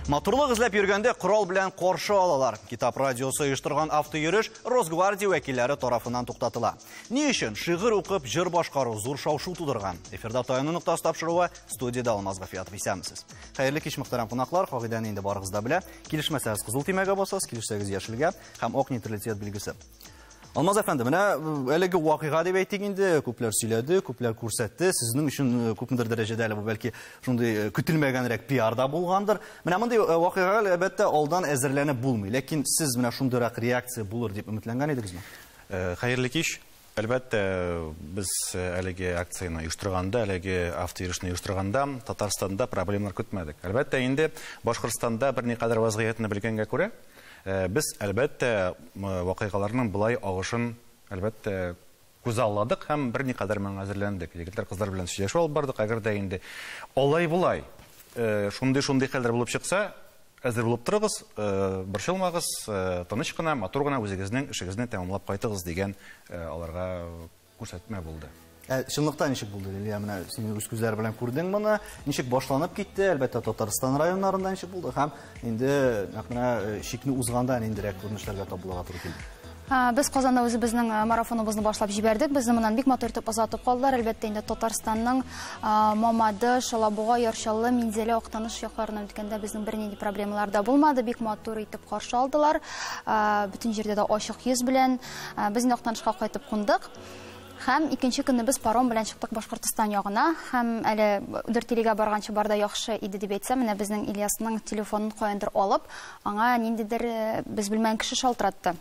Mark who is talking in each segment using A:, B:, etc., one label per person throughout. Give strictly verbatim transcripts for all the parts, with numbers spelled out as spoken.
A: Матурлык эзләп йөргәндә корал белән каршы алалар. Китап радиосы оештырган автойөреш Росгвардия вәкилләре тарафыннан туктатыла. Ни өчен шигырь укып җыр башкару зур шау-шу тудырган? Эфирда Таяну ноктасы тапшыруы, студиядә Алмаз Гафиятов. Исәнмесез. Хәерле кич, мөхтәрәм кунаклар. Кагыйдәне инде барыгыз да белә. Килешмәсәгез кызыл төймәгә басасыз, килешсәгез яшелгә һәм ак нейтралитет билгесе. Алмаз әфәнде, менә әлеге вакыйга дип әйтик инде, күпләр сөйләде, күпләр күрсәтте. Сезнең өчен күпмедер дәрәҗәдә әле бу бәлки шундый көтелмәгәнрәк пиар да булгандыр. Менә мондый вакыйгага әлбәттә алдан әзерләнеп булмый. Ләкин сез менә шундыйрак реакция булыр дип өметләнгән идегезме?
B: Хәерле кич. Әлбәттә, без әлеге акцияне оештырганда, әлеге автойөрешне оештырганда Татарстанда проблемалар көтмәдек. Әлбәттә, инде Башкортстанда берникадәр вазгыятьне белгәнгә күрә, без әлбәттә вакыйгаларның былай агышын әлбәттә күзалладык һәм берникадәр моңа әзерләндек. Егетләр, кызлар белән сөйләшеп алып бардык. Әгәр дә инде алай-болай шундый-шундый хәлләр булып чыкса, әзер булып торыгыз, борчылмагыз, тыныч кына, матур гына үзегезнең эшегезне тәмамлап кайтыгыз дигән аларга күрсәтмә булды.
A: Ә чынлыкта ничек булды, Лилия? Менә син үз күзләр белән күрдең моны. Ничек башланып китте? Әлбәттә, Татарстан районнарында ничек булды? Һәм инде нәкъ менә чикне узганда ниндирәк күренешләргә тап булырга туры килде?
C: Без Казанда үзебезнең марафоныбызны башлап җибәрдек. Безне моннан бик матур итеп озатып калдылар. Әлбәттә, инде Татарстанның Мамадыш, Алабуга, Яр Чаллы, Минзәлә, Актаныш якларына үткәндә безнең бернинди проблемалар да булмады. Бик матур итеп каршы алдылар. Бөтен җирдә дә ачык йөз белән. Без инде Актанышка кайтып кундык. Һәм икенче көнне без паром белән чыктык Башкортстан ягына. Һәм әле Дүртилегә барганчы барда яхшы иде дип әйтсәм, менә безнең Ильясның телефонын каяндыр алып, аңа ниндидер без белмәгән кеше шалтыратты.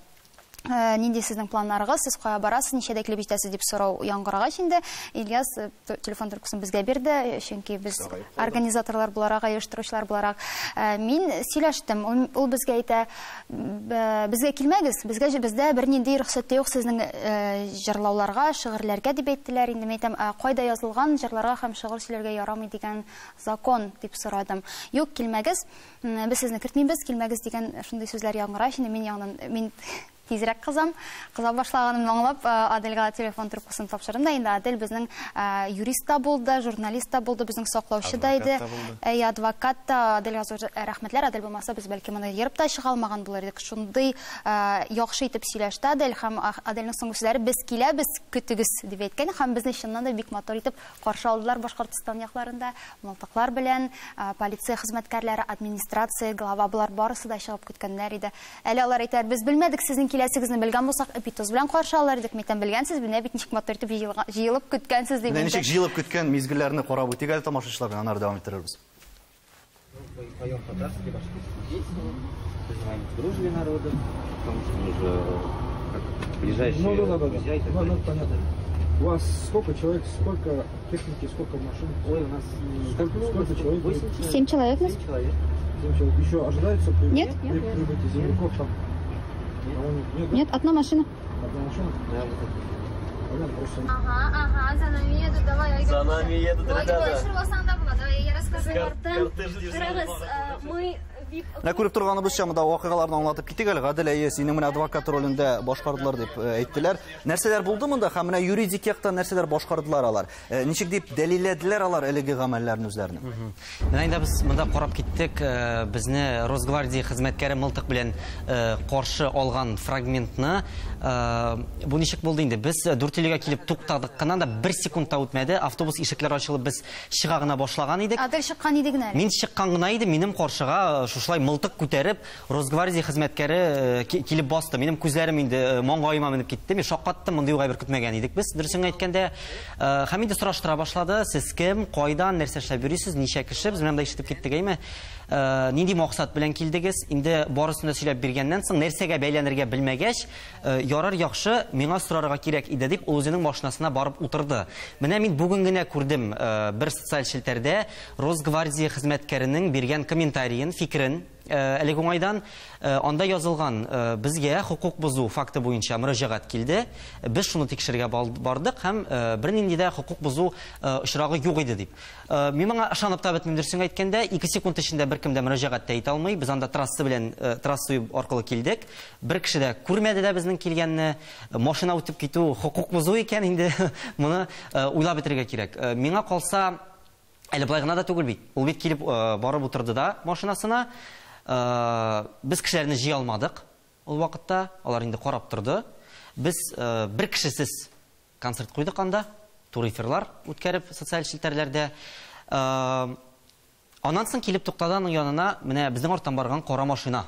C: Нинди сезнең планнарыгыз, сез кая барасыз, ничәдә килеп җитәсез дип сорау яңгырагач инде Ильяс телефон трубкасын безгә бирде, чөнки без организаторлар буларак, оештыручылар буларак. Мин сөйләштем, ул безгә әйтә, безгә килмәгез, безгә бездә бернинди рөхсәт юк сезнең җырлауларга, шигырьләргә дип әйттеләр. Инде мин әйтәм, кайда язылган җырларга һәм шигырь сөйләргә ярамый дигән закон дип сорадым. Юк, килмәгез, без сезне кертмибез, килмәгез дигән шундый сүзләр яңгырагач, инде мин яңадан мин тизрәк кызам. Кыза башлаганымны аңлап, Аделгә телефон трубкасын тапшырдым да, инде Адель безнең юрист та булды, журналист та булды, безнең саклаучы да иде. Әй, адвокат та. Аделгә зур рәхмәтләр. Адель булмаса, без бәлки моны ерып та чыга алмаган булыр идек. Шундый яхшы итеп сөйләште Адель, һәм Аделнең соңгы сүзләре без киләбез, көтегез дип әйткән, һәм безне чыннан да бик матур итеп каршы алдылар Башкортстан якларында, мылтыклар белән, полиция хезмәткәрләре, администрация, глава булар барысы да чыгып көткәннәр иде. Әле алар әйтәләр, без белмәдек сезнең киләсегезне, белгән булсак, эпитоз белән каршы алар идек. Мәйтәм, белгәнсез, менә бит ничек матур итеп җыелып көткәнсез дип.
A: Менә ничек җыелып көткән мизгелләрне карап үтик әле тамашачылар белән, аннары дәвам иттерербез.
D: Поем татарский, башкирский песни, призываем к дружбе народов, потому что мы же как ближайшие друзья и так далее.
E: У вас сколько человек, сколько техники, сколько машин?
D: Ой, у нас
E: сколько, сколько человек?
C: Семь человек.
D: Семь человек.
E: Семь человек. Еще ожидается при...
C: Нет.
E: При прибытии земляков там? Нет,
C: нет, одна машина.
E: Одна машина?
D: Да, вот это.
E: Понятно, просто...
C: Ага, ага, за нами едут, давай.
F: За нами едут, ребята.
C: Я расскажу.
G: Мы...
A: Менә күреп торганыбызча, монда вакыйгаларны аңлатып китик әле. Гадел, әйе, синең менә адвокат ролендә башкардылар дип әйттеләр. Нәрсәләр булды монда һәм менә юридик яктан нәрсәләр башкардылар алар? Ничек дип дәлилләделәр алар әлеге гамәлләрне үзләренең?
H: Менә инде без монда карап киттек, безне Росгвардия хезмәткәре мылтык белән каршы алган фрагментны. Бу ничек булды инде? Без Дүртилегә килеп туктадык кына да, бер секунд та үтмәде. Автобус ишекләре ачылып, без чыга гына башлаган идек.
C: Адель чыккан иде генә.
H: Мин чыккан гына идем, минем каршыга шушылай мылтык күтәреп Росгвардия хезмәткәре килеп басты. Минем күзләрем инде маңгаема менеп китте. Мин шаккаттым, мондый ук әйбер көтмәгән идек без, дөресен әйткәндә. Һәм инде сораштыра башлады: сез кем, кайдан, нәрсә эшләп йөрисез, ничә кеше? Без менә монда ишетеп киттек, әйме? Нинди максат белән килдегез? Инде барысын да сөйләп биргәннән соң, нәрсәгә бәйләнергә белмәгәч, ярар, яхшы, миңа сорарга кирәк иде дип, ул үзенең машинасына барып утырды. Менә мин бүген генә күрдем бер социаль челтәрдә Росгвардия хезмәткәренең биргән комментариен, фикерен. Әлеге уңайдан анда язылган: безгә хокук бозу факты буенча мөрәҗәгать килде. Без шуны тикшерергә бардык һәм бернинди дә хокук бозу очрагы юк иде дип. Мин моңа ышанып та бетмим, дөресен әйткәндә, ике секунд эчендә беркем дә мөрәҗәгать тә итә алмый. Без анда трасса белән, трасса аркылы килдек. Бер кеше дә күрмәде дә безнең килгәнне. Машина үтеп китү хокук бозу икән инде, моны уйлап бетерергә кирәк. Миңа калса, Әле былай гына да түгел бит. Ул бит килеп барып утырды да машинасына. Без кешеләрне җыя алмадык ул вакытта, алар инде карап торды. Без бер кешесез концерт куйдык анда, тур эфирлар үткәреп социаль челтәрләрдә. Аннан соң килеп туктады аның янына менә безнең арттан барган кара машина.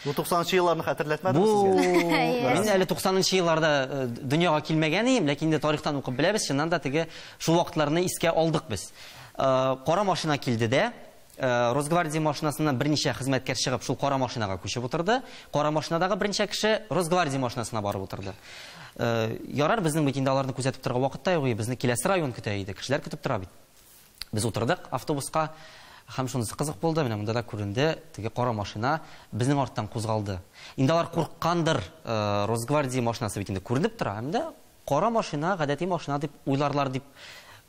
A: Бу туксанынчы елларны хәтерләтмәдеме сезгә?
H: Мин әле туксанынчы елларда дөньяга килмәгән идем, ләкин инде тарихтан укып беләбез, чыннан да теге шул вакытларны искә алдык без. Кара машина килде дә, Росгвардия машинасыннан берничә хезмәткәр чыгып, шул кара машинага күчеп утырды. Кара машинадагы берничә кеше Росгвардия машинасына барып утырды. Ярар, безнең бит инде аларны күзәтеп торырга вакыт та юк, безне киләсе район көтә иде, кешеләр көтеп тора бит. Без утырдык автобуска. Һәм шунысы кызык булды, менә монда да күренде, теге кара машина безнең арттан кузгалды. Инде алар курыккандыр, Росгвардия машинасы бит инде күренеп тора, һәм дә кара машина гадәти машина дип уйларлар дип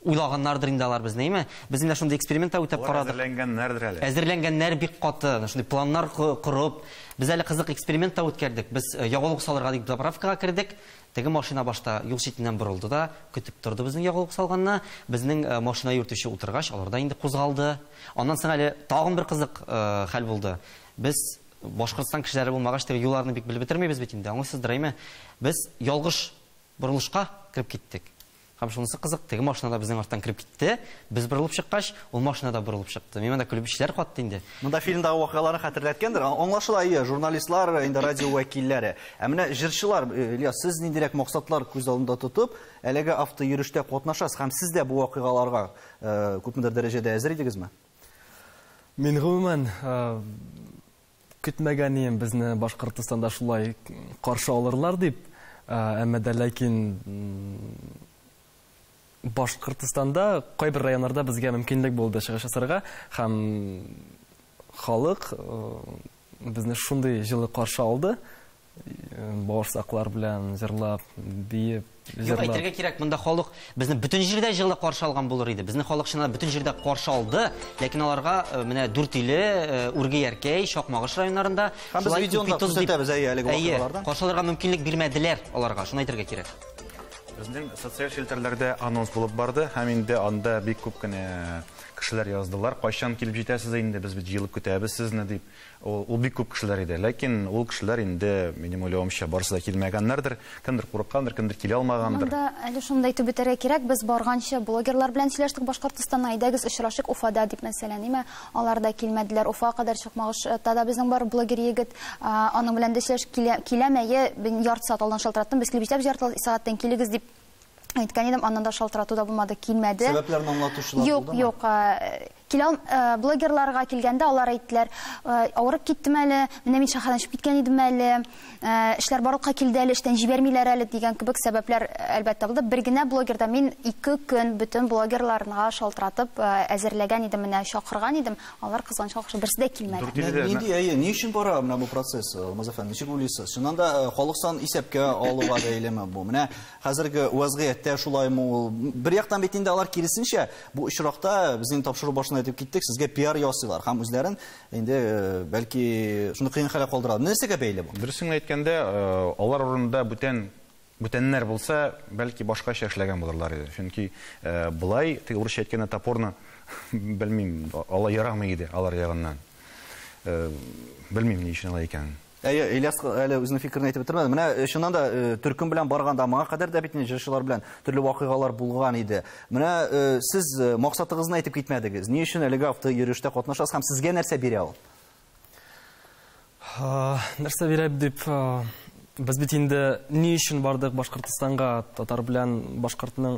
H: уйлаганнардыр инде алар безне, әйме? Без инде шундый эксперимент та үтәп карадык.
B: Әзерләнгәннәрдер әле.
H: Әзерләнгәннәр бик каты, шундый планнар корып, без әле кызык эксперимент та үткәрдек. Без ягулык салырга дип заправкага кердек. Теге машина башта юл читеннән борылды да, көтеп торды безнең ягулык салганны. Безнең машина йөртүче утыргач, алар да инде кузгалды. Аннан соң әле тагын бер кызык хәл булды. Без Башкортстан кешеләре булмагач, теге юлларны бик белеп бетермибез бит инде, аңлыйсыздыр, әйме? Без ялгыш борылышка кереп киттек. Һәм шунысы кызык, теге машина да безнең арттан кереп китте. Без борылып чыккач, ул машина да борылып чыкты. Мин монда көлеп эшләр катты инде.
A: Монда фильмдагы вакыйгаларны хәтерләткәндер. Аңлашыла, ие, журналистлар, инде радио вәкилләре. Ә менә җырчылар, Ильяс, сез ниндирәк максатлар күз алдында тотып, әлеге автойөрештә катнашасыз һәм сез дә бу вакыйгаларга күпмедер дәрәҗәдә әзер идегезме?
F: Мин гомумән көтмәгән идем безне Башкортстанда шулай каршы алырлар дип, әмма дә ләкин Башкортстанда кайбер районнарда безгә мөмкинлек булды чыгыш ясарга, һәм халык безне шундый җылы каршы алды, бавырсаклар белән җырлап, биеп,
H: җырлап. Юк, әйтергә кирәк, монда халык безне бөтен җирдә җылы каршы алган булыр иде. Безне халык чынлап бөтен җирдә каршы алды, ләкин аларга менә Дүртөйле, Үрге-Яркәй, Чакмагыш районнарында
A: һәм без видеоны күрсәтәбез әлеге вакыйгалардан.
H: Каршы алырга мөмкинлек бирмәделәр аларга, шуны әйтергә кирәк.
B: Безнең социаль челтәрләрдә анонс булып барды, һәм инде анда бик күп кенә кешеләр яздылар. Кайчан килеп җитәсез инде, без бит җыелып көтәбез сезне дип. Ул, ул бик күп кешеләр иде. Ләкин ул кешеләр инде, минем уйлавымча, барысы да килмәгәннәрдер. Кемдер курыккандыр, кемдер килә алмагандыр.
C: Монда әле шуны да әйтеп үтәргә кирәк, без барганчы блогерлар белән сөйләштек Башкортстаннан, әйдәгез очрашыйк Уфада дип, мәсәлән, әйме? Алар да килмәделәр. Уфа кадәр Чакмагышта да безнең бар блогер егет, аның белән дә сөйләшеп киләм, әйе, ярты сәгать алдан шалтыраттым, без килеп җитәбез, ярты сәгатьтән килегез дип әйткән идем, аннан да шалтырату да булмады, килмәде.
A: Сәбәпләрен аңлатучылар
C: булдымы? Юк, юк. Килә, блогерларга килгәндә алар әйттеләр, авырып киттем әле, менә мин шәһәрдән чыгып киткән идем әле, эшләр барлыкка килде әле, эштән җибәрмиләр әле дигән кебек сәбәпләр әлбәттә булды. Бер генә блогерда мин ике көн бөтен блогерларга шалтыратып әзерләгән идем, менә чакырган идем, алар кызганычка каршы берсе дә килмәде.
A: Нинди, әйе, ни өчен бара менә бу процесс, Алмаз әфәнде, ничек уйлыйсыз? Чыннан да халык сан исәпкә алуга бәйлеме бу? Менә хәзерге вазгыятьтә шулаймы ул? Бер яктан бит инде алар киресенчә, бу очракта безнең тапшыру башында әйтеп киттек, сезгә пиар ясыйлар һәм үзләрен инде бәлки шуны кыен хәлгә калдыралар. Нәрсәгә бәйле бу?
B: Дөресен әйткәндә, алар урынында бүтән бүтәннәр булса, бәлки башкача эшләгән булырлар иде. Чөнки болай, теге урысча әйткәндә, топорны белмим, алай ярамый иде алар ягыннан. Белмим ни өчен алай икәнен.
A: Әйе, Ильяс әле үзенең фикерен әйтеп бетермәде. Менә чыннан да төркем белән барганда моңа кадәр дә бит инде җырчылар белән төрле вакыйгалар булган иде. Менә сез максатыгызны әйтеп китмәдегез. Ни өчен әлеге автойөрештә катнашасыз һәм сезгә нәрсә бирә ул?
F: Нәрсә бирә дип, без бит инде ни өчен бардык Башкортстанга, татар белән башкортның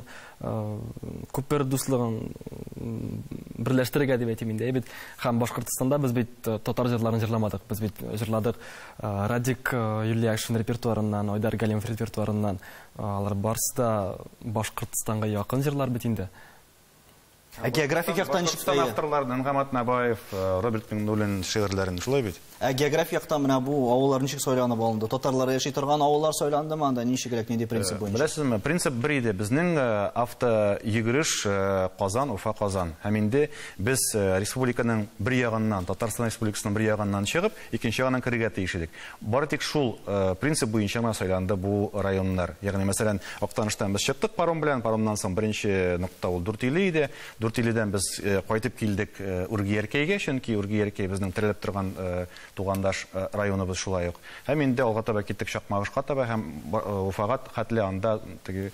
F: күпер дуслыгын берләштерергә дип әйтим инде. Бит һәм Башкортстанда без бит татар җырларын җырламадык. Без бит җырладык Радик Юльякшин репертуарыннан, Айдар Галимов репертуарыннан. Алар барысы да Башкортстанга якын җырлар бит инде.
A: Ә географик яктан ничек?
B: Башкортстан авторларының Нәгъмәт Набаев, Роберт Миңнуллин шигырьләрен шулай бит.
A: Ә географик яктан менә бу авыллар ничек сайланып алынды? Татарлар яши торган авыллар сайландымы анда? Ничегрәк, нинди принцип буенча?
B: Беләсезме, принцип бер иде. Безнең автойөгереш Казан, Уфа, Казан. Һәм инде без республиканың бер ягыннан, Татарстан Республикасының бер ягыннан чыгып, икенче ягыннан керергә тиеш идек. Бары тик шул принцип буенча гына сайланды бу районнар. Ягъни, мәсәлән, Актаныштан без чыктык паром белән, паромнан соң беренче нокта ул Дүртөйле иде. Дүртөйледән без кайтып килдек Үргияркәйгә, чөнки Үргияркәй безнең терелеп торган тугандаш районыбыз шулай ук. Һәм инде алга таба киттек Чакмагышка таба һәм Уфага хәтле анда теге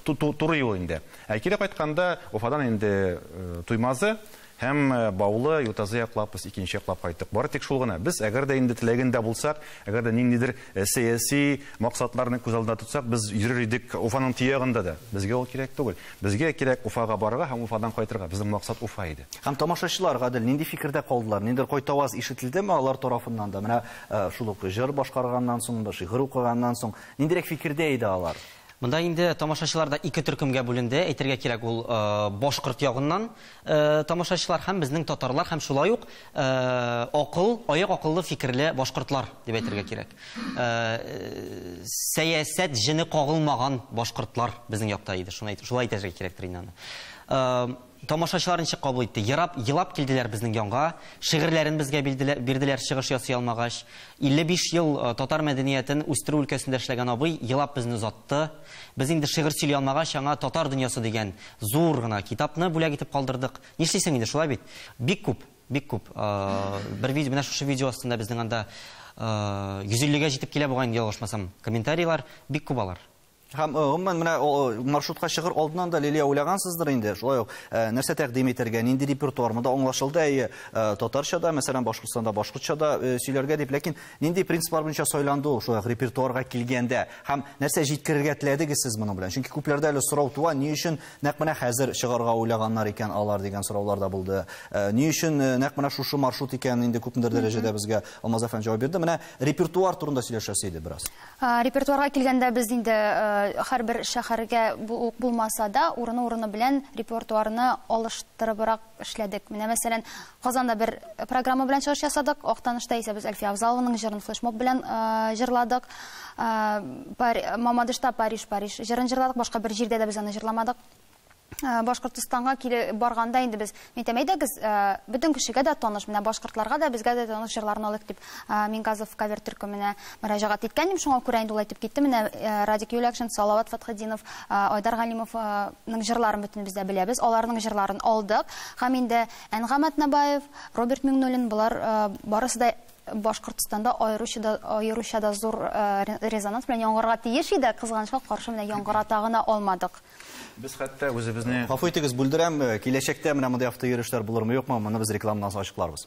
B: туры юл инде. Ә кире кайтканда Уфадан инде Туймазы һәм Баулы, Ютазы яклап без икенче яклап кайттык. Бары тик шул гына. Без әгәр дә инде теләгендә булсак, әгәр дә ниндидер сәяси максатларны күз алдында тотсак, без йөрер идек Уфаның тиягында да. Безгә ул кирәк түгел. Безгә кирәк Уфага барырга һәм Уфадан кайтырга. Безнең максат Уфа иде.
A: Һәм тамашачылар гадел нинди фикердә калдылар? Ниндидер кайтаваз ишетелдеме алар тарафыннан да? Менә шул ук җыр башкарганнан соң да, шигырь укыганнан соң ниндирәк фикердә иде алар?
H: Монда инде тамашачылар да ике төркемгә бүленде. Әйтергә кирәк, ул башкорт ягыннан тамашачылар һәм безнең татарлар һәм шулай ук акыл, аяк акыллы фикерле башкортлар дип әйтергә кирәк. Сәясәт җене кагылмаган башкортлар безнең якта иде. Шуны әйтеп, шулай әйтергә кирәктер инде аны. Тамашачылар ничек кабул итте? Елап, елап килделәр безнең янга, шигырьләрен безгә бирделәр, чыгыш ясый алмагач. илле биш ел татар мәдәниятен үстерү өлкәсендә эшләгән абый елап безне озатты. Без инде шигырь сөйли алмагач, аңа Татар дөньясы дигән зур гына китапны бүләк итеп калдырдык. Нишлисең инде, шулай бит? Бик күп, бик күп. Бер видео, менә шушы видео астында безнең анда йөз иллегә җитеп килә бугай, ялгышмасам, комментарийлар бик күп алар.
A: Һәм гомумән менә маршрутка чыгыр алдыннан да Лилия уйлагансыздыр инде. Шулай ук нәрсә тәкъдим итәргә, нинди репертуар монда аңлашылды, әйе, татарча да, мәсәлән, Башкортстанда башкортча да сөйләргә дип, ләкин нинди принциплар буенча сайланды ул шулай ук репертуарга килгәндә һәм нәрсә җиткерергә теләдегез сез моның белән? Чөнки күпләрдә әле сорау туа, ни өчен нәкъ менә хәзер чыгарга уйлаганнар икән алар дигән сораулар да булды. Ни өчен нәкъ менә шушы маршрут икән инде күпмедер дәрәҗәдә безгә Алмаз әфәнде җавап бирде. Менә репертуар турында сөйләшәсе иде бераз.
C: Репертуарга килгәндә без инде һәрбер шәһәргә булмаса да, урыны-урыны белән репертуарны алыштырыбрак эшләдек. Менә мәсәлән, Казанда бер программа белән чыгыш ясадык, Актанышта исә без Әлфия Авзалованың җырын флешмоб белән җырладык. Мамадышта Париж, Париж җырын җырладык, башка бер җирдә дә без аны җырламадык. Башкортостанга килеп барганда инде без, мин әйтәм, әйдәгез, бөтен кешегә дә таныш, менә башкортларга да, безгә дә таныш җырларны алыйк дип Мингазов кавер төркеменә мөрәҗәгать иткән идем. Шуңа күрә инде ул әйтеп китте, менә Радик Юлякшин, Салават Фатхетдинов, Айдар Галимовның җырларын бөтен без дә беләбез, аларның җырларын алдык. Һәм инде Әнгам Атнабаев, Роберт Миңнуллин, болар барысы да Башкортстанда аеруча да, аеруча да зур резонанс белән яңгырга тиеш иде, кызганычка каршы менә яңгырата гына алмадык.
B: Без хәтта үзебезне...
A: Гафу итегез, бүлдерәм, киләчәктә менә мондый автойөрешләр булырмы, юкмы, моны без рекламадан соң ачыкларбыз.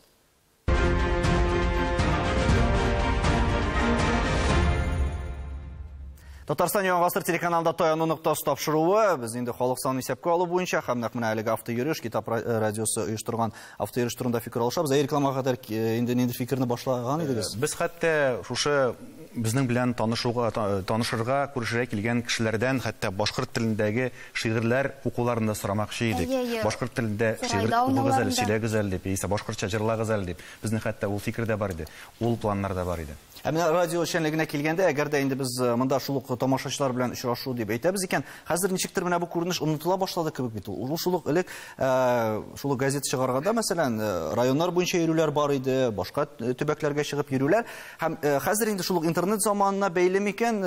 A: Татарстан Яңа Гасыр телеканалында таяну ноктасы тапшыруы. Без инде халык санын исәпкә алу буенча һәм нәкъ менә әлеге автойөреш, Китап радиосы оештырган автойөреш турында фикер алышабыз. Ә рекламага кадәр инде нинди фикерне башлаган идегез?
B: Без хәтта шушы безнең белән танышуга, танышырга, күрешергә килгән кешеләрдән хәтта башкорт телендәге шигырьләр укуларын да сорамакчы идек. Башкорт телендә шигырь укыгыз әле, сөйләгез әле дип, яисә башкортча җырлагыз әле дип. Безнең хәтта ул фикер дә бар иде, ул планнар да бар иде.
A: Ә менә радио эшчәнлегенә килгәндә, әгәр дә инде без монда шул ук тамашачылар белән очрашу дип әйтәбез икән, хәзер ничектер менә бу күренеш онытыла башлады кебек бит ул. Ул шул ук элек, шул ук газета чыгарганда, мәсәлән, районнар буенча йөрүләр бар иде, башка төбәкләргә чыгып йөрүләр. Һәм хәзер инде шул ук интернет заманына бәйле микән,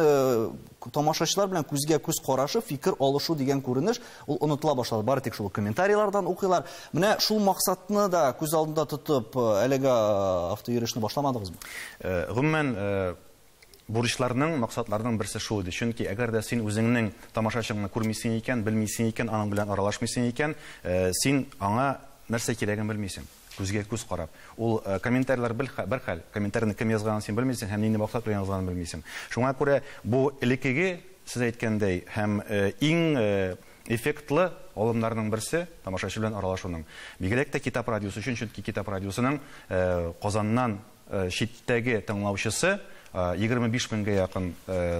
A: тамашачылар белән күзгә күз карашып фикер алышу дигән күренеш ул онытыла башлады. Бары тик шул ук комментарийлардан укыйлар. Менә шул максатны да күз алдында тотып, әлеге автойөрешне башламадыгызмы?
B: Гомумән, бурычларның, максатларның берсе шул иде. Чөнки әгәр дә син үзеңнең тамашачыңны күрмисең икән, белмисең икән, аның белән аралашмыйсың икән, син аңа нәрсә кирәген белмисең. Күзгә күз карап. Ул комментарийлар бер хәл, комментарийны кем язганын син белмисең һәм нинди максат белән язганын белмисең. Шуңа күрә бу элеккеге, сез әйткәндәй, һәм иң эффектлы алымнарның берсе тамашачы белән аралашуның. Бигрәк тә Китап радиосы өчен, чөнки Китап радиосының Казаннан читтәге тыңлаучысы егерме биш меңгә якын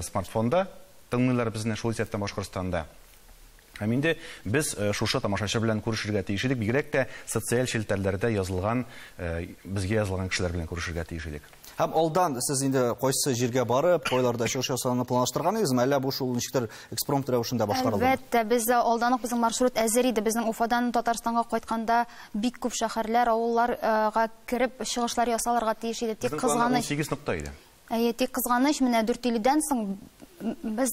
B: смартфонда тыңлыйлар безне, шул исәптән Башкортстанда. Һәм инде без шушы тамашачы белән күрешергә тиеш идек, бигрәк тә социаль челтәрләрдә язылган, безгә язылган кешеләр белән күрешергә тиеш идек.
A: Һәм алдан сез инде кайсы җиргә барып, кайларда чыгыш ясауны планлаштырган идегезме, әллә бу шул ничектер экспромт рәвешендә башкарылды?
C: Әлбәттә, без алдан ук безнең маршрут әзер иде. Безнең Уфадан Татарстанга кайтканда бик күп шәһәрләр, авылларга кереп чыгышлар ясалырга тиеш иде. Тик кызганыч,
B: унсигез нокта иде.
C: Әйе, тик кызганыч, менә Дүртөйледән соң Без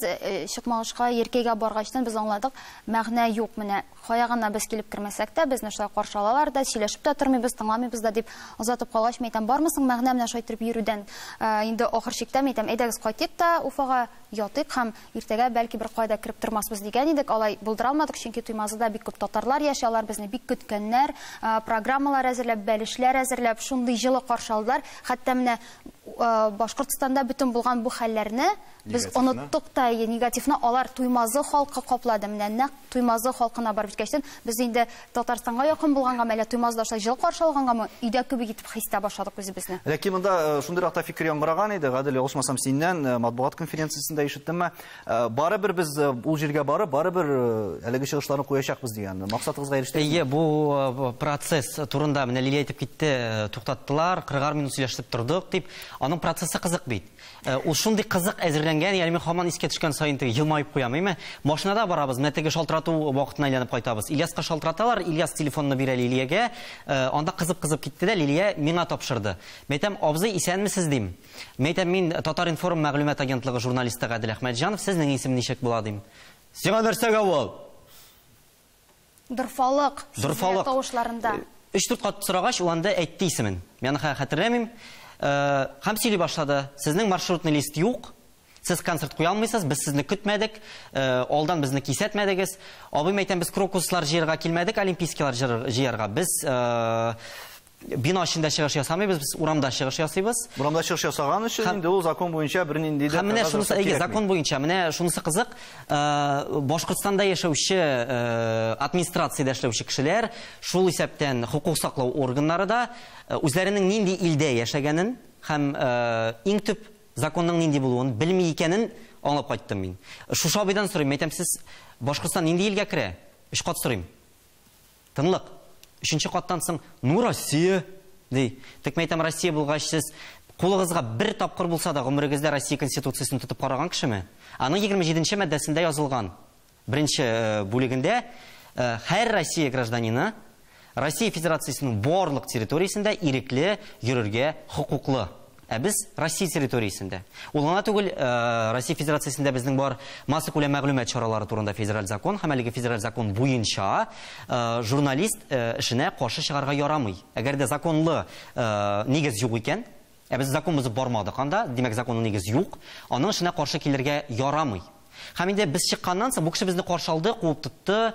C: Чакмагышка, Яркәйгә баргачтан без аңладык, мәгънә юк, менә кая гына без килеп кермәсәк тә, безне шулай каршы алалар да, сөйләшеп тә тормыйбыз, тыңламыйбыз да дип озатып калгач, мин әйтәм, бармы соң мәгънә менә шулай итеп йөрүдән? Инде ахыр чиктә мин әйтәм, әйдәгез кайтыйк та Уфага ятыйк һәм иртәгә бәлки бер кайда кереп тормасбыз дигән идек. Алай булдыра алмадык, чөнки Туймазыда бик күп татарлар яши, алар безне бик көткәннәр, программалар әзерләп, бәлешләр әзерләп, шундый җылы каршы алдылар. Хәтта менә Башкортстанда бөтен булган бу хәлләрне без оныттык та, негативны алар Туймазы халкы каплады. Менә нәкъ Туймазы халкына барып җиткәчтен, без инде Татарстанга якын булгангамы, әллә Туймазыда шулай җылы каршы алгангамы, өйдә кебек итеп хис итә башладык үзебезне.
A: Ләкин монда шундыйрак та фикер яңгыраган иде, Гадел, ялгышмасам, синнән матбугат конференциясендә ишеттемме? Барыбер без ул җиргә барып, барыбер әлеге чыгышларны куячакбыз дигән. Максатыгызга ирештегезме?
H: Әйе, бу процесс турында менә Лилия әйтеп китте, туктаттылар, кырыгар минут сөйләшеп тордык дип. Аның процессы кызык бит. Ул шундый кызык әзерләнгән, ягъни мин һаман искә төшкән саен теге елмаеп куям, әйме? Машинада барабыз, менә теге шалтырату вакытына әйләнеп кайтабыз. Ильяска шалтыраталар, Ильяс телефонны бирә Лилиягә, анда кызып-кызып китте дә Лилия миңа тапшырды. Мин әйтәм, абзый, исәнмесез дим. Мин әйтәм, мин Татар-информ мәгълүмат агентлыгы журналисты Гадел Әхмәтҗанов, сезнең исем ничек була дим. Сиңа нәрсәгә ул?
C: Дорфалык,
H: Дорфалык
C: тавышларында.
H: Өч-дүрт кат сорагач, ул анда әйтте исемен. Мин аны хәтерләмим. Һәм сөйли башлады. Сезнең маршрутный лист юк. Сез концерт куя алмыйсыз, без сезне көтмәдек, алдан безне кисәтмәдегез. Абыйм әйтәм, без крокуслар җыярга килмәдек, олимпийскийлар җыярга. Без бина эчендә чыгыш ясамыйбыз, без урамда чыгыш ясыйбыз.
A: Урамда чыгыш ясаган өчен инде ул закон буенча бернинди дә
H: Һәм менә шунысы, әйе, закон буенча, менә шунысы кызык, Башкортстанда яшәүче администрациядә эшләүче кешеләр, шул исәптән хокук саклау органнары да үзләренең нинди илдә яшәгәнен һәм иң төп законның нинди булуын белми икәнен аңлап кайттым мин. Шушы абыйдан сорыйм, әйтәм, сез Башкортстан нинди илгә керә? Өч кат сорыйм. Тынлык. Өченче каттан соң, ну, Россия, ди. Тик мен әйтәм, Россия булгач, сез кулыгызга бер тапкыр булса да гомерегездә Россия Конституциясен тотып караган кешеме? Аның егерме җиденче маддәсендә язылган беренче бүлегендә һәр Россия гражданины Россия Федерациясенең барлык территориясендә ирекле йөрергә хокуклы. Ә без Россия территориясендә. Ул гына түгел, Россия Федерациясендә безнең бар массакүләм мәгълүмат чаралары турында федераль закон һәм әлеге федераль закон буенча журналист эшенә каршы чыгарга ярамый. Әгәр дә законлы нигез юк икән, ә без закон бозып бармадык анда, димәк законлы нигез юк, аның эшенә каршы килергә ярамый. Һәм инде без чыкканнан соң бу кеше безне каршы алды, куып тотты.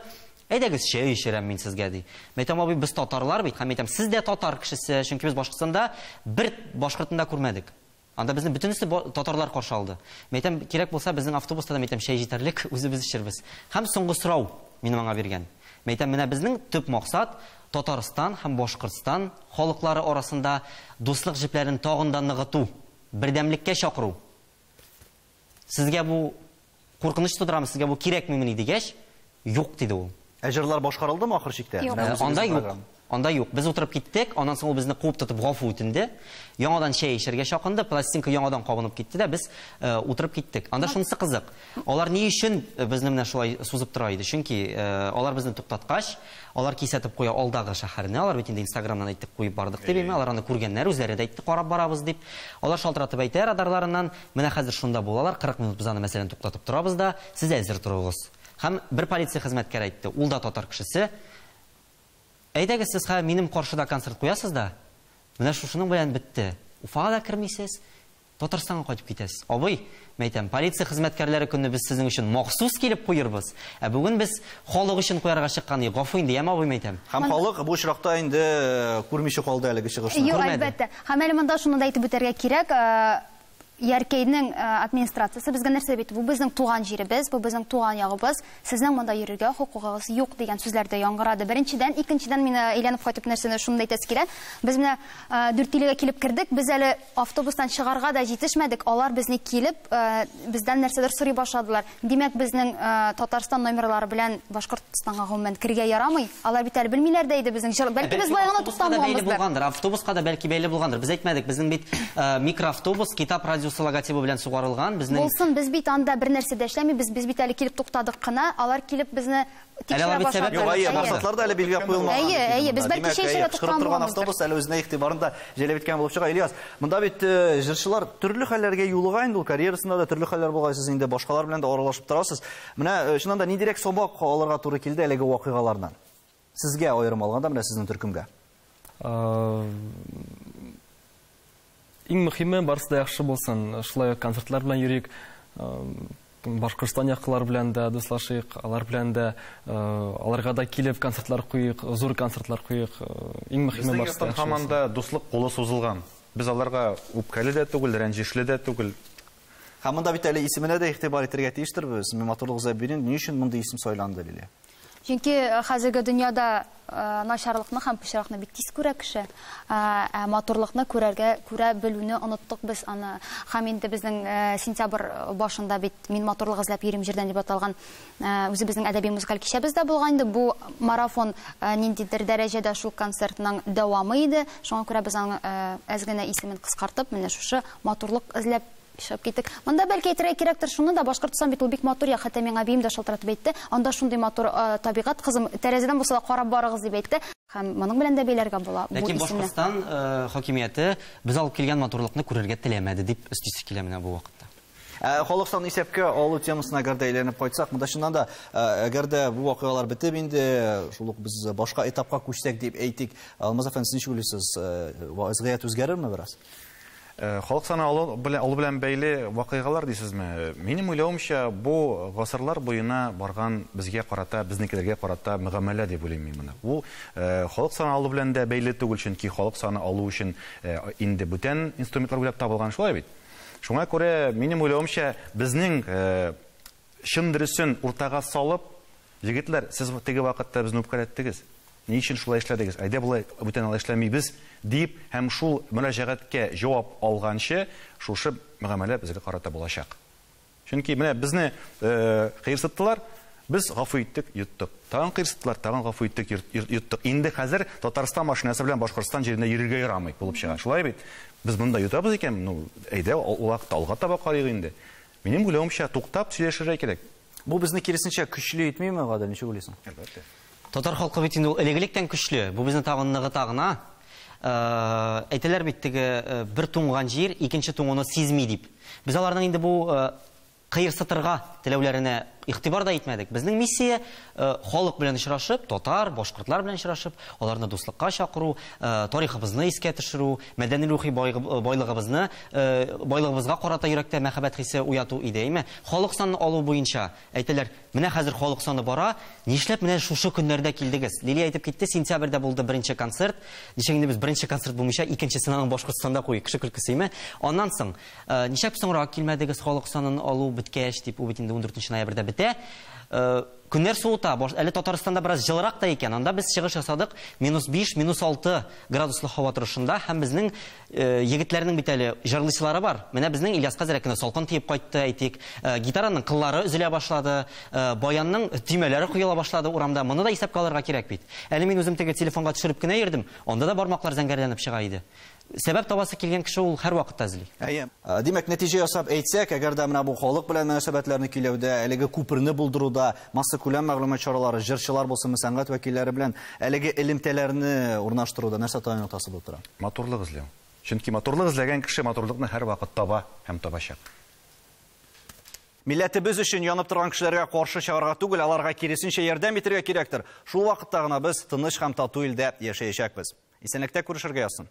H: Әйдәгез, чәй эчерәм мин сезгә, ди. Мин әйтәм, абый, без татарлар бит. Һәм әйтәм, сез дә татар кешесе, чөнки без Башкортстанда бер башкортны да күрмәдек. Анда безне бөтенесе татарлар каршы алды. Мин әйтәм, кирәк булса, безнең автобуста да, мин әйтәм, чәй җитәрлек, үзебез эчербез. Һәм соңгы сорау минем аңа биргән. Мин әйтәм, менә безнең төп максат Татарстан һәм Башкортстан халыклары арасында дуслык җепләрен тагын да ныгыту, бердәмлеккә чакыру. Сезгә бу куркыныч тудырамы, сезгә бу кирәкмени дигәч, юк диде ул.
A: Ә җырлар башкарылдымы ахыр чиктә?
C: Юк.
H: Анда юк. Анда юк. Без утырып киттек, аннан соң ул безне куып тотып гафу үтенде. Яңадан чәй эчәргә чакырды, пластинка яңадан кабынып китте дә без утырып киттек. Анда шунысы кызык. Алар ни өчен безне менә шулай сузып тора иде? Чөнки алар безне туктаткач, алар кисәтеп куя алдагы шәһәрне. Алар бит инде Инстаграмнан әйтеп куеп бардык дип, әйме, алар аны күргәннәр, үзләре дә әйтте, карап барабыз дип. Алар шалтыратып әйтә радарларыннан, менә хәзер шунда булалар, кырык минут без аны мәсәлән туктатып торабыз да, сез әзер торыгыз. Һәм бер полиция хезмәткәре әйтте, ул да татар кешесе. Әйдәгез, сез хәзер минем каршыда концерт куясыз да, менә шушының белән бетте. Уфага да кермисез, Татарстанга кайтып китәсез. Абый, мин әйтәм, полиция хезмәткәрләре көнне без сезнең өчен махсус килеп куербыз. Ә бүген без халык өчен куярга чыккан идек. Гафу инде, яме абый, мин әйтәм.
A: Һәм халык бу очракта инде күрмичә калды әлеге чыгышны.
C: Юк, әлбәттә. Һәм әле монда шуны да әйтеп үтәргә кирәк, Яркәйнең администрациясе безгә нәрсә бит? Бу безнең туган җиребез, бу безнең туган ягыбыз. Сезнең монда йөрергә хокукыгыз юк дигән сүзләр дә яңгырады. Беренчедән, икенчедән мин әйләнеп кайтып нәрсәне шуны да әйтәсе килә. Без менә Дүртөйлегә килеп кердек, без әле автобустан чыгарга да җитешмәдек. Алар безне килеп, бездән нәрсәдер сорый башладылар. Димәк, безнең Татарстан номерлары белән Башкортстанга гомумән керергә ярамый. Алар бит әле белмиләр дә иде безнең. Бәлки без болай гына туктамаганбыздыр.
H: Автобуска да бәлки бәйле булгандыр. Без әйтмәдек, безнең бит микроавтобус, китап радиосы радиосы логотибы белән сугарылган. Безнең
C: Булсын, без бит анда бер нәрсә дә эшләмибез, без бит әле килеп туктадык кына, алар килеп безне тикшерә башладылар.
A: Юк, әйе, максатлар да әле билгеләп куелмаган.
C: Әйе, әйе, без бәлки чәй эчәргә туктаган
A: торган автобус әле үзенә игътибарын да җәлеп иткән булып чыга. Ильяс, монда бит җырчылар төрле хәлләргә юлыга инде, ул карьерасында да төрле хәлләр булган, сез инде башкалар белән дә аралашып торасыз. Менә чыннан да ниндирәк сабак алырга туры килде әлеге вакыйгалардан? Сезгә аерым алганда, менә сезнең төркемгә.
F: Иң мөһиме барысы да яхшы булсын. Шулай ук концертлар белән йөрик, Башкортстан яклар белән дә дуслашыйк, алар белән дә, аларга да килеп концертлар куйык, зур концертлар куйык. Иң мөһиме барысы да яхшы булсын.
B: Һаман да дуслык кулы сузылган. Без аларга үпкәле дә түгел, рәнҗешле дә түгел.
A: Һәм монда бит әле исеменә дә игътибар итәргә тиештербез. Мин матурлык Зәбирин ни өчен мондый исем сайланды, Лилия?
C: Чөнки хәзерге дөньяда начарлыкны һәм пычракны бик тиз күрә кеше. Ә матурлыкны күрергә, күрә белүне оныттык без аны. Һәм инде безнең сентябрь башында бит мин матурлык эзләп йөрим җирдән дип аталган үзебезнең әдәби музыкаль кичәбез дә булган инде. Бу марафон ниндидер дәрәҗәдә шул концертның дәвамы иде. Шуңа күрә без аның әз генә исемен кыскартып, менә шушы матурлык эзләп чыгып киттек. Монда бәлки әйтергә кирәктер шуны да, Башкортстан бит ул бик матур як, хәтта миңа әбием дә шалтыратып әйтте. Анда шундый матур табигать, кызым, тәрәзәдән булса да карап барыгыз дип әйтте. Һәм моның белән дә бәйләргә була бу
H: Ләкин
C: исемне.
H: Башкортстан хакимияте без алып килгән матурлыкны күрергә теләмәде дип өстисе килә менә бу вакытта.
A: Халык санын исәпкә алу темасына әгәр дә әйләнеп кайтсак, монда чыннан да, әгәр дә бу вакыйгалар бетеп инде, шул ук без башка этапка күчсәк дип әйтик. Алмаз әфәнде, сез ничек уйлыйсыз, вазгыять үзгәрерме бераз?
B: Халык саны алу белән бәйле вакыйгалар дисезме? Минем уйлавымча, бу гасырлар буена барган безгә карата, безнекеләргә карата мөгамәлә дип уйлыйм мин моны. Бу халык саны алу белән дә бәйле түгел, чөнки халык саны алу өчен инде бүтән инструментлар уйлап табылган, шулай бит. Шуңа күрә минем уйлавымча, безнең чын дөресен уртага салып, егетләр, сез теге вакытта безне үпкәләттегез. Ни өчен шулай эшләдегез? Әйдә болай бүтән алай эшләмибез дип һәм шул мөрәҗәгатькә җавап алганчы шушы мөгамәлә безгә карата булачак. Чөнки менә безне кыерсыттылар, без гафу иттек, йоттык. Тагын кыерсыттылар, тагын гафу иттек, йоттык. Инде хәзер Татарстан машинасы белән Башкортстан җирендә йөрергә ярамый булып чыга. Шулай бит? Без монда йотабыз икән, ну, әйдә ул вакытта алга таба карыйк инде. Минем уйлавымча, туктап сөйләшергә кирәк.
A: Бу безне киресенчә көчле итмиме, Гадел, ничек уйлыйсың?
B: Әлбәттә.
H: Татар халкы бит инде ул элек-электән көчле. Бу безне тагын ныгыта гына. Әйтәләр бит теге бер туңган җир икенче туңуны сизми дип. Без аларның инде бу кыерсытырга теләүләренә игътибар да итмәдек. Безнең миссия халык белән очрашып, татар, башкортлар белән очрашып, аларны дуслыкка чакыру, тарихыбызны искә төшерү, мәдәни рухи байлыгыбызны, байлыгыбызга карата йөрәктә мәхәббәт хисе уяту иде, әйме? Халык санын алу буенча әйтәләр, менә хәзер халык саны бара, нишләп менә шушы көннәрдә килдегез? Лилия әйтеп китте, сентябрьдә булды беренче концерт. Ничек инде без беренче концерт булмыйча, икенчесен аның Башкортстанда куйык, кеше көлкесе, әйме? Аннан соң, нишләп соңрак килмәдегез халык санын алу беткәч дип, ул бит инде ундүртенче ноябрьдә бетә. Көннәр суыта, әле Татарстанда бераз җылырак та икән. Анда без чыгыш ясадык минус биш, минус алты градуслы һава торышында, һәм безнең егетләрнең бит әле җырлыйсылары бар. Менә безнең Ильяска әзрәк кенә салкын тиеп кайтты, әйтик. Гитараның кыллары өзелә башлады, баянның төймәләре коела башлады урамда. Моны да исәпкә алырга кирәк бит. Әле мин үзем теге телефонга төшереп кенә йөрдем, анда да бармаклар зәңгәрләнеп чыга иде. Сәбәп табасы килгән кеше ул һәр вакытта эзли.
A: Әйе. Димәк, нәтиҗә ясап әйтсәк, әгәр дә менә бу халык белән мөнәсәбәтләрне көйләүдә, әлеге күперне булдыруда, массакүләм мәгълүмат чаралары, җырчылар булсын, сәнгать вәкилләре белән әлеге элемтәләрне урнаштыруда нәрсә таяну ноктасы булып тора?
B: Матурлык эзләү. Чөнки матурлык эзләгән кеше матурлыкны һәр вакыт таба һәм табачак.
A: Милләтебез өчен янып торган кешеләргә каршы чыгарга түгел, аларга киресенчә ярдәм итәргә кирәктер. Шул вакытта гына без тыныч һәм тату илдә яшәячәкбез. Исәнлектә күрешергә язсын.